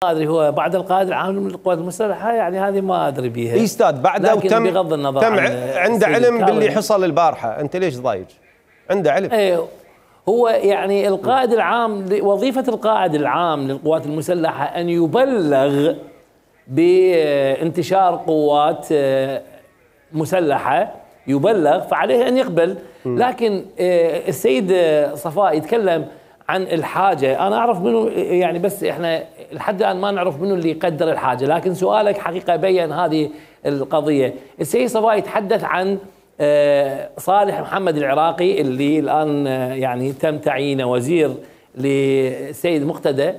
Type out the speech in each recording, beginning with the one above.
ما ادري هو بعد القائد العام للقوات المسلحه، يعني هذه ما ادري بيها. اي استاذ بعده وتم بغض النظر تم عنده علم باللي حصل البارحه، انت ليش ضايج؟ عنده علم. ايه هو يعني القائد العام، وظيفه القائد العام للقوات المسلحه ان يبلغ بانتشار قوات مسلحه، يبلغ، فعليه ان يقبل. لكن السيد صفاء يتكلم عن الحاجه، انا اعرف منه يعني، بس احنا لحد الان ما نعرف منه اللي يقدر الحاجه، لكن سؤالك حقيقه بين هذه القضيه. السيد صفاء يتحدث عن صالح محمد العراقي اللي الان يعني تم تعيينه وزير للسيد مقتدى،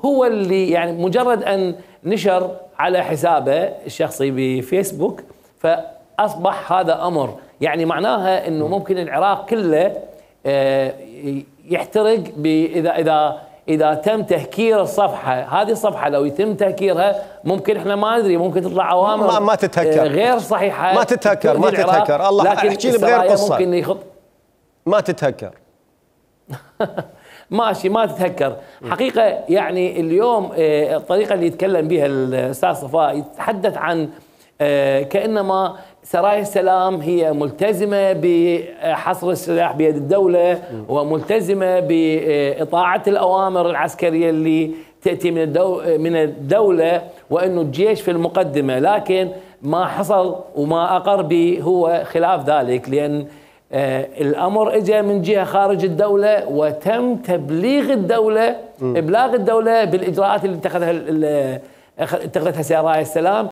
هو اللي يعني مجرد ان نشر على حسابه الشخصي بفيسبوك فاصبح هذا امر، يعني معناها انه ممكن العراق كله يحترق اذا تم تهكير الصفحه. هذه الصفحه لو يتم تهكيرها ممكن احنا ما ندري، ممكن تطلع اوامر ما تتهكر غير صحيحه، ما تتهكر الله احكي لي بغير قصه، ممكن يخط ما تتهكر ماشي ما تتهكر. حقيقه يعني اليوم الطريقه اللي يتكلم بها الاستاذ صفاء يتحدث عن كانما سرايا السلام هي ملتزمه بحصر السلاح بيد الدوله، وملتزمه باطاعه الاوامر العسكريه اللي تاتي من الدوله، وانه الجيش في المقدمه، لكن ما حصل وما اقر به هو خلاف ذلك، لان الامر اجى من جهه خارج الدوله، وتم تبليغ الدوله ابلاغ الدوله بالاجراءات اللي اتخذتها سرايا السلام.